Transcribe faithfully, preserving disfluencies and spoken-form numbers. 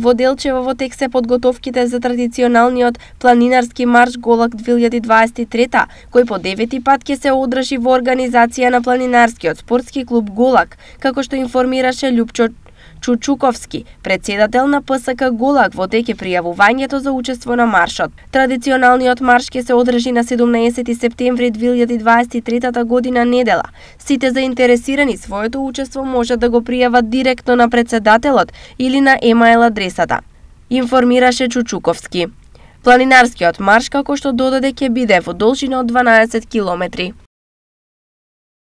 Во Делчево во тек се подготовките за традиционалниот планинарски марш Голак две илјади дваесет и трета, кој по девети пат ќе се одржи во организација на планинарскиот спортски клуб Голак, како што информираше Љупчо Чучуковски, председател на П С К Голак, во тек е пријавувањето за учество на маршот. Традиционалниот марш ќе се одржи на седумнаесети септември две илјади дваесет и трета година недела. Сите заинтересирани своето учество може да го пријават директно на председателот или на емаил адресата, информираше Чучуковски. Планинарскиот марш, како што додаде, ќе биде во должина од дванаесет километри.